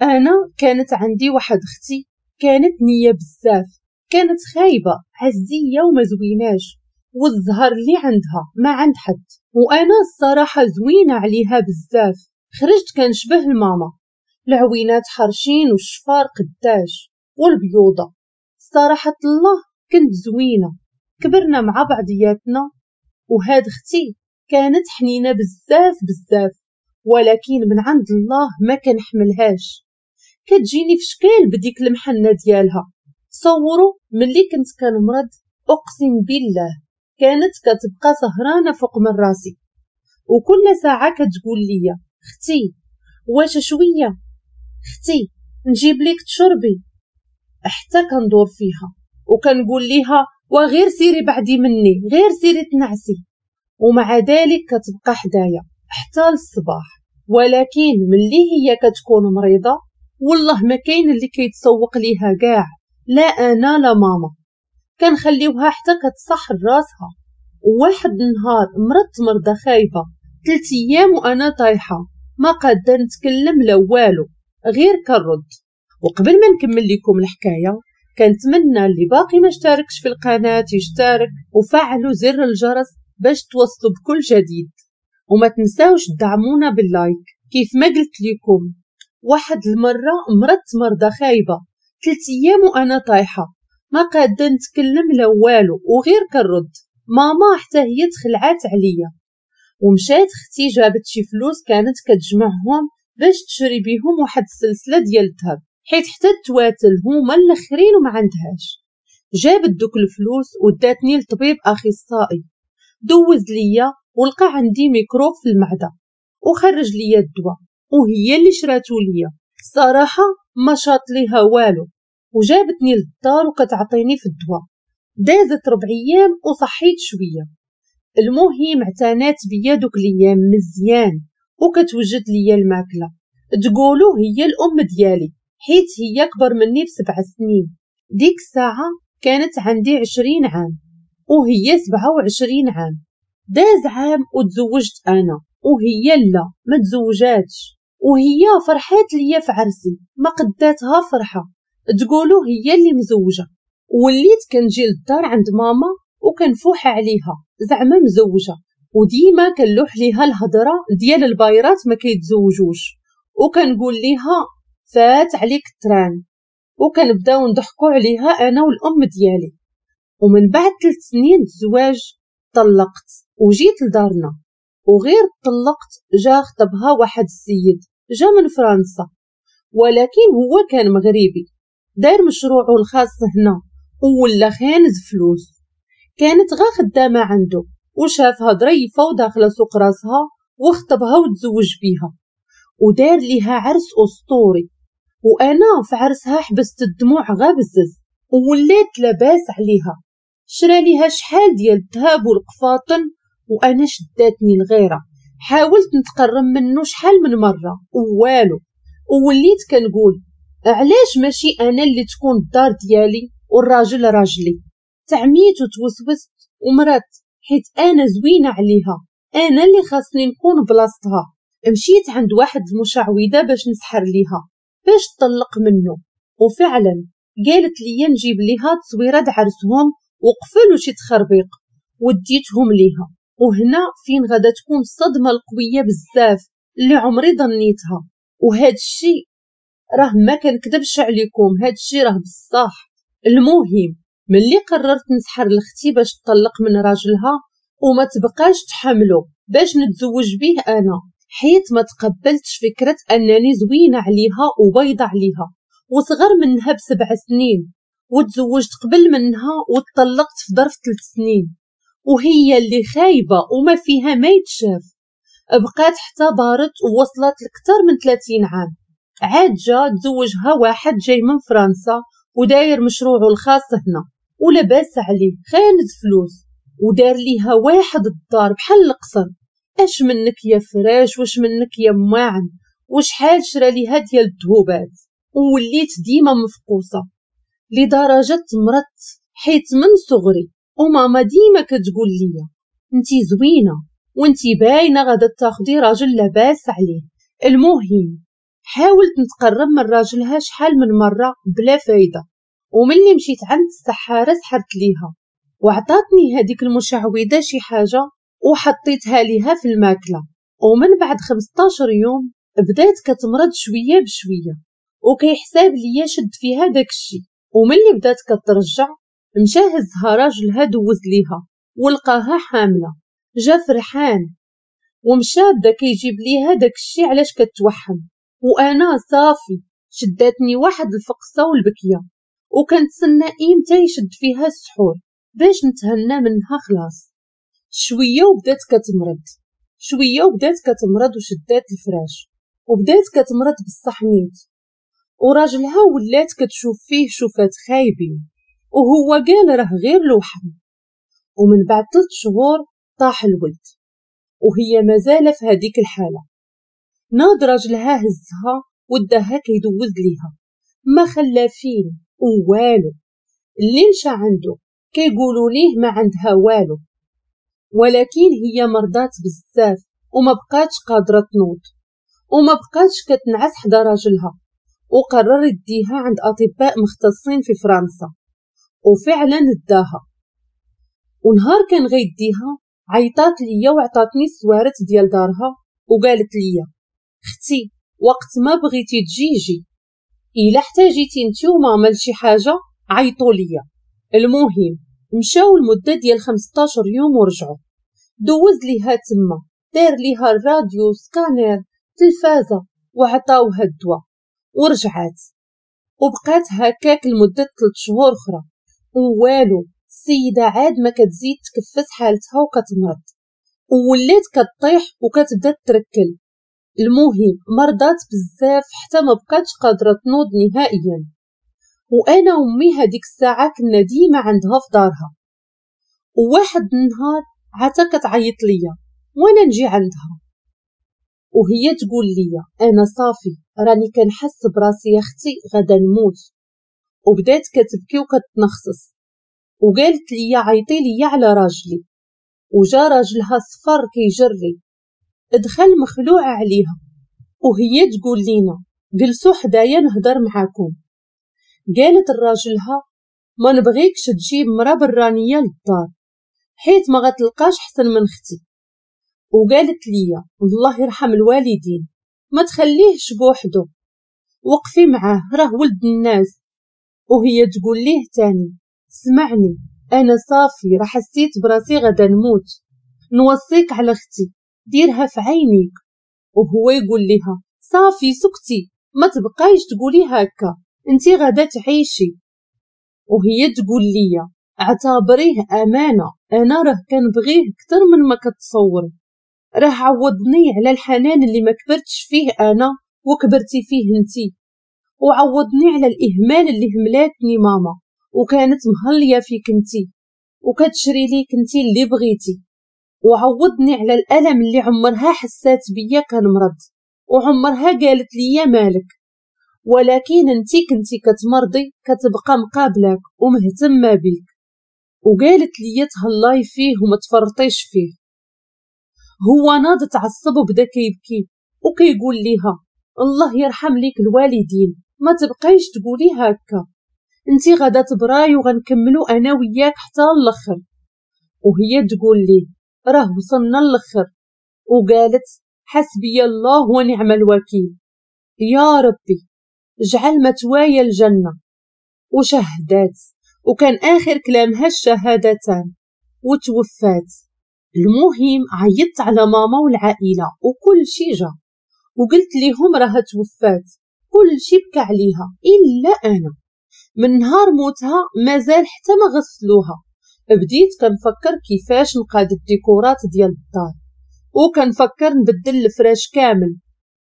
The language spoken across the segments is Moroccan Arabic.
انا كانت عندي واحد اختي كانت نيه بزاف، كانت خايبة عزية وما زويناش، والزهر اللي عندها ما عند حد، وانا الصراحة زوينة عليها بزاف. خرجت كنشبه الماما، العوينات حرشين والشفار قداش والبيوضه. صراحة الله كنت زوينة. كبرنا مع بعضياتنا، وهاد اختي كانت حنينه بزاف بزاف، ولكن من عند الله ما كنحملهاش، كتجيني في شكال بديك المحنة ديالها. تصوروا ملي كنت كنمرض اقسم بالله كانت كتبقى سهرانة فوق من راسي، وكل ساعة كتقول لي اختي واش شوية، اختي نجيب لك تشربي، حتى كندور فيها وكنقول ليها وغير سيري بعدي مني، غير سيري تنعسي، ومع ذلك كتبقى حدايا حتى للصباح. ولكن ملي هي كتكون مريضه والله ما كاين اللي كيتسوق ليها كاع، لا انا لا ماما، كنخليوها حتى كتصح راسها. وواحد النهار مرضت مرضى خايبة، 3 ايام وانا طايحة ما قاده نتكلم لا والو، غير كنرد. وقبل ما نكمل لكم الحكاية كنتمنى اللي باقي ما اشتركش في القناة يشترك وفعلوا زر الجرس باش توصلوا بكل جديد، وما تنساوش تدعمونا بال like. كيف ما قلت لكم واحد المرة مرضت مرضى خايبة، 3 ايام وانا طايحة ما قاده نتكلم لا والو وغير كنرد. ماما حتى هي تخلعات عليا، ومشات اختي جابت شي فلوس كانت كتجمعهم باش تشري بيهم واحد السلسلة ديال الذهب، حيت حتى التواتل هما الاخرين وما عندهاش. جابت دوك الفلوس وداتني لطبيب اخصائي، دوز ليا ولقى عندي ميكروب في المعدة وخرج ليا الدواء، وهي اللي شراتو ليا. الصراحة ما شاط ليها والو، وجابتني للدار وكتعطيني في الدواء. دازت 4 ايام وصحيت شوية. المهم اعتنات بيا دوك الايام مزيان، وكتوجد ليا الماكلة، تقولوا هي الام ديالي حيت هي اكبر مني ب7 سنين. ديك الساعة كانت عندي 20 عام وهي 27 عام. داز عام وتزوجت انا، وهي لا ما تزوجاتش، وهي فرحات ليا في عرسي ما قداتها فرحه، تقولوا هي اللي مزوجه. وليت كنجي للدار عند ماما وكنفوح عليها زعما مزوجه، وديما كنلوح ليها الهضرة ديال البايرات ما كيتزوجوش، وكنقول ليها فات عليك ال train، وكنبداو نضحكوا عليها انا والام ديالي. ومن بعد 3 سنين الزواج طلقت وجيت لدارنا، وغير طلقت جا خطبها واحد السيد جا من فرنسا، ولكن هو كان مغربي داير مشروعه الخاص هنا ولا خانز فلوس. كانت غا خدامه عنده، وشافها ظريفة وداخله سوق راسها وخطبها وتزوج بيها، ودار ليها عرس اسطوري. وانا في عرسها حبست الدموع غا بزز، وولات لاباس عليها، شرا ليها شحال ديال الذهب والقفاطن، وانا شداتني الغيرة. حاولت نتقرب منه شحال من مرة ووالو، ووليت كنقول علاش ماشي انا اللي تكون الدار ديالي والراجل راجلي. تعميت وتوسوست ومرت، حيت انا زوينة عليها، انا اللي خاصني نكون بلاصتها. مشيت عند واحد المشعوذه باش نسحر ليها باش تطلق منه، وفعلا قالت لي نجيب ليها تصويره د عرسهم وقفلوا شي تخربيق، وديتهم ليها. وهنا فين غادا تكون الصدمة القوية بزاف اللي عمري ظنيتها. وهاد الشيء راه ما كنكذبش عليكم، هاد الشيء راه بصح. المهم ملي قررت نسحر لختي باش تطلق من راجلها وما تبقاش تحملو باش نتزوج به انا، حيت ما تقبلتش فكرة انني زوينة عليها وبيضه عليها وصغر منها ب7 سنين، وتزوجت قبل منها وطلقت في ظرف 3 سنين، وهي اللي خايبة وما فيها ما يتشاف. بقات حتى بارت ووصلت لكثر من 30 عام. عاد جا تزوجها واحد جاي من فرنسا وداير مشروعه الخاص هنا ولاباس عليه، خانز فلوس، ودار ليها واحد الدار بحال القصر. اش منك يا فراش واش منك يا ماعن، وشحال شرا ليها ديال الذهوبات. ووليت ديما مفقوسه لدرجة مرضت، حيت من صغري وماما ديما كتقول لي انتي زوينة وانتي باينة غادا تاخدي راجل لاباس عليه. المهم حاولت نتقرب من راجلها شحال من مرة بلا فايده، وملي مشيت عند السحاره سحرت ليها وعطاتني هذيك المشعوذه شي حاجة وحطيتها ليها في الماكلة. ومن بعد 15 يوم بدات كتمرض شوية بشوية، وكيحساب ليا شد فيها داكشي. وملي بدات كترجع مشى هزها راجلها دوز ليها ولقاها حامله، جا فرحان ومشى بدا كيجيب ليها داكشي علاش كتوحم. وانا صافي شداتني واحد الفقصه والبكيه، وكنتسنى امتى يشد فيها السحور باش نتهنى منها خلاص. شوية وبدات كتمرض، شوية وبدات كتمرض وشدات الفراش وبدات كتمرض بالصحنيت، وراجلها ولات كتشوف فيه شوفات خايبين، وهو قال راه غير الوحم. ومن بعد 3 شهور طاح الولد وهي مازال في هذيك الحالة. ناض راجلها هزها وداها كيدوز ليها، ما خلا فين والو. اللي مشى عنده كيقولوا ليه ما عندها والو، ولكن هي مرضات بزاف وما بقاتش قادرة تنوض وما بقاتش كتنعس حدا راجلها، وقرر يديها عند اطباء مختصين في فرنسا، وفعلا داها. ونهار كان غيديها عيطات ليا وعطاتني السوارت ديال دارها وقالت ليا اختي وقت ما بغيتي تجي جي، الا احتاجيتي انتي وماما لشي حاجة عيطوا ليا. المهم مشاو المدة ديال 15 يوم ورجعوا، دوز ليها تما، دار ليها الراديو، سكانير، تلفازه، وعطاوها الدواء ورجعات. وبقات هكاك لمدة 3 شهور اخرى ووالو. السيدة عاد ما كتزيد تكفس حالتها وكتمرض، وولات كطيح وكتبدا تركل. المهم مرضات بزاف حتى ما بقاتش قادرة تنوض نهائيا. وانا وامي هذيك الساعة كنا ديما عندها في دارها. وواحد النهار عتا كتعيط ليا وانا نجي عندها، وهي تقول لي انا صافي راني كنحس براسي يا اختي غادا نموت. وبدات كتبكي وكتنخصص وقالت لي عيطي لي على راجلي. وجا راجلها صفر كيجري، دخل مخلوع عليها، وهي تقول لينا جلسوا حدايا نهضر معاكم. قالت لراجلها ما نبغيكش تجيب مرا برانيه للدار حيت ما غتلقاش حسن من اختي. وقالت لي الله يرحم الوالدين ما تخليهش بوحدو، وقفي معاه راه ولد الناس. وهي تقول ليه تاني سمعني انا صافي راه حسيت براسي غدا نموت، نوصيك على اختي ديرها في عينيك. وهو يقول لها صافي سكتي ما تبقايش تقولي هكا، انتي غدا تعيشي. وهي تقول لي اعتبريه امانه، انا راه كنبغيه اكثر من ما كتصوري، راه عوضني على الحنان اللي ما كبرتش فيه انا وكبرتي فيه انتي، وعوضني على الاهمال اللي هملاتني ماما وكانت مهليه فيك انتي وكتشري ليك انتي اللي بغيتي، وعوضني على الالم اللي عمرها حسات بيا كنمرض وعمرها قالت لي مالك، ولكن انتي كنتي كتمرضي كتبقى مقابلك ومهتمه بيك. وقالت لي تهلاي فيه وما تفرطيش فيه. هو ناض تعصب وبدا كيبكي وكيقول ليها الله يرحم ليك الوالدين ما تبقايش تقولي هكا، انتي غادا تبراي وغنكملو انا وياك حتى الاخر. وهي تقول ليه راه وصلنا الاخر. وقالت حسبي الله ونعم الوكيل، يا ربي اجعل مثواي الجنة. وشهدات، وكان اخر كلامها الشهادتان، وتوفات. المهم عيطت على ماما والعائلة وكل شي جا، وقلت ليهم راها توفات، كل شي بكى عليها الا انا. من نهار موتها مازال حتى ما غسلوها. بديت كنفكر كيفاش نقاد الديكورات ديال الدار، وكنفكر نبدل الفراش كامل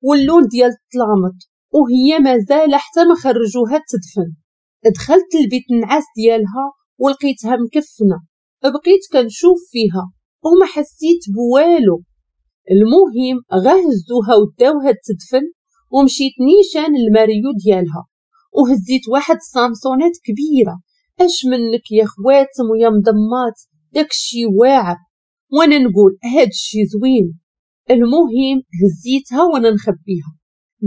واللون ديال الطلامط، وهي مازال حتى ما خرجوها تدفن. دخلت البيت النعاس ديالها ولقيتها مكفنه، بقيت كنشوف فيها وما حسيت بوالو. المهم غهزوها وداوها تدفن، ومشيت نيشان الماريو ديالها وهزيت واحد السامسونات كبيرة، اش منك يا خواتم ويا مضمات، داكشي واعر، وانا نقول هادشي زوين. المهم هزيتها وانا نخبيها،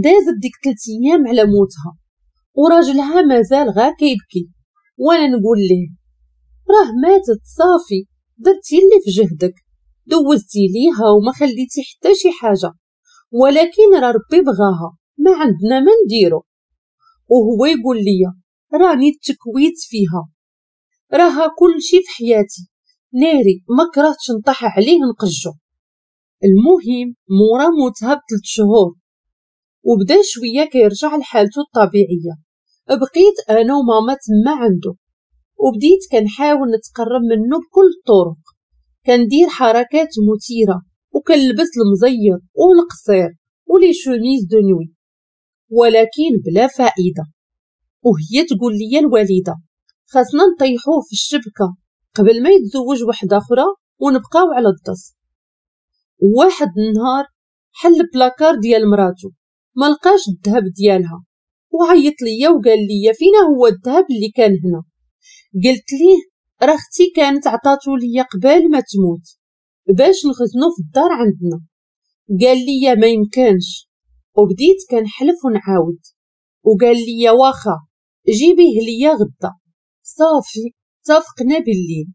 دازت ديك 3 ايام على موتها وراجلها مازال غا كيبكي، وانا نقول ليه راه ماتت صافي، درتي اللي في جهدك، دوزتي ليها وما خليتي حتى شي حاجة، ولكن راه ربي بغاها، ما عندنا ما نديرو. وهو يقول لي راني تكويت فيها، راها كل شي في حياتي، ناري ما كرهتش نطيح عليه نقجو. المهم مورا موتها ب3 شهور وبدا شوية كيرجع لحالته الطبيعية. بقيت انا وماما تما عنده، وبديت كنحاول نتقرب منه بكل الطرق، كندير حركات مثيرة وكنلبس المزير والقصير و les chemises de nuit، ولكن بلا فائدة. وهي تقول لي الوالدة خاصنا نطيحوه في الشبكة قبل ما يتزوج وحده اخرى ونبقاو على الدص. واحد النهار حل بلاكار ديال مراتو ما لقاش الذهب ديالها، وعيط ليا وقال لي فينا هو الذهب اللي كان هنا. قلت ليه راه اختي كانت عطاتو ليا قبل ما تموت باش نخزنو في الدار عندنا. قال لي ما يمكنش، وبديت كنحلف ونعاود، وقال لي واخا جيبيه ليا غدا. صافي اتفقنا بالليل،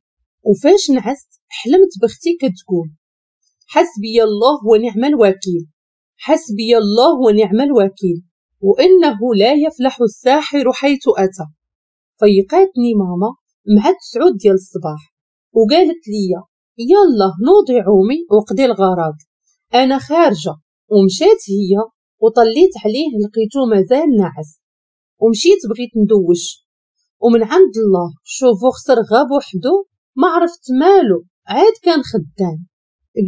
وفاش نعست حلمت بختي كتقول حسبي الله ونعم الوكيل، حسبي الله ونعم الوكيل، وانه لا يفلح الساحر حيث اتى. فيقاتني ماما مع 9 ديال الصباح وقالت لي يلا نوضي عومي وقضي الغرض، انا خارجه. ومشات هي وطليت عليه لقيتو مازال ناعس، ومشيت بغيت ندوش، ومن عند الله شوفو خسر غا بوحدو، ما عرفت مالو، عاد كان خدام.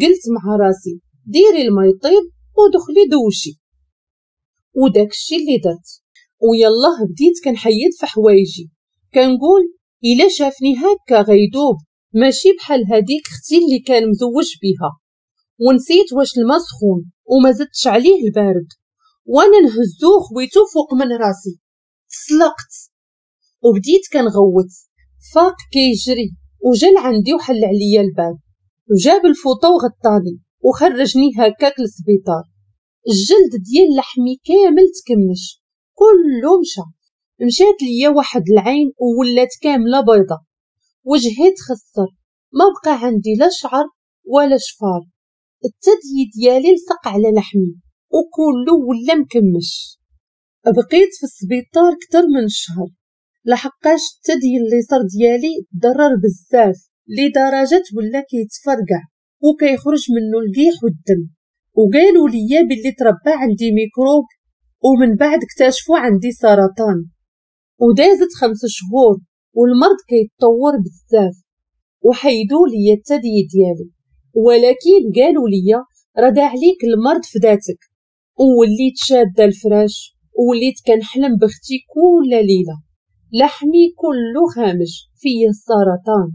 قلت مع راسي ديري الما يطيب ودخلي دوشي، وداك الشي اللي درت. ويلاه بديت كنحيد في حوايجي، كنقول الا شافني هكا غيدوب، ماشي بحال هذيك اختي اللي كان مزوج بها. ونسيت واش الماء سخون وما زدتش عليه البارد، وانا نهزو خويتو فوق من راسي، تسلقت وبديت كنغوت. فاق كيجري وجا عندي وحل عليا الباب وجاب الفوطه وغطاني وخرجني هكاك للسبيطار. الجلد ديال لحمي كامل تكمش، كله مشى. مشات ليا واحد العين وولات كاملة بيضة، وجهي تخسر، ما بقى عندي لا شعر ولا شفار، الثدي ديالي لصق على لحمي وكله ولا مكمش. بقيت في السبيطار كتر من شهر، لحقاش الثدي اليسار ديالي تضرر بزاف لدرجة ولا كيتفرقع وكيخرج منه القيح والدم. وقالوا لي باللي تربى عندي ميكروب، ومن بعد اكتشفوا عندي سرطان. ودازت 5 شهور والمرض كيتطور بزاف، وحيدوا لي الثدي ديالي، ولكن قالوا لي راه عليك المرض في ذاتك. ووليت شاده الفراش، ووليت كنحلم بختي كل ليلة، لحمي كله خامج فيا السرطان،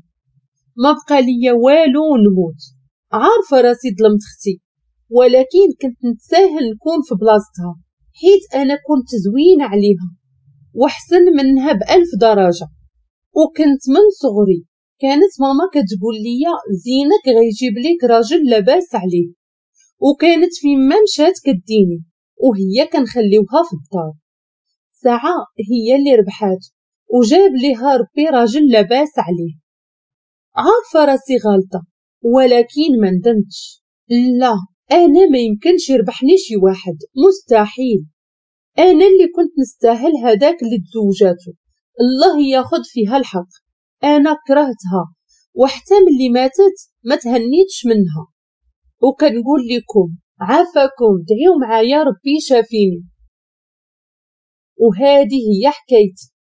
ما بقى ليا والو ونموت. عارفه راسي ظلمت اختي، ولكن كنت نتساهل نكون في بلاصتها، حيت انا كنت زوينة عليها وحسن منها ب1000 درجه. وكنت من صغري كانت ماما كتقول لي زينك غيجيب ليك راجل لاباس عليه، وكانت فيما مشات كديني وهي كنخليوها في الدار. ساعة هي اللي ربحات وجاب ليها ربي راجل لاباس عليه. عارفه راسي غلطه، ولكن ما ندمتش. لا، انا ما يمكنش يربحني شي واحد، مستحيل. انا اللي كنت نستاهل هذاك اللي تزوجاتو، الله ياخذ فيها الحق. انا كرهتها، وحتى ملي ماتت ما تهنيتش منها. وكنقول لكم عافاكم دعيو معايا ربي شافيني. وهذه هي حكايتي.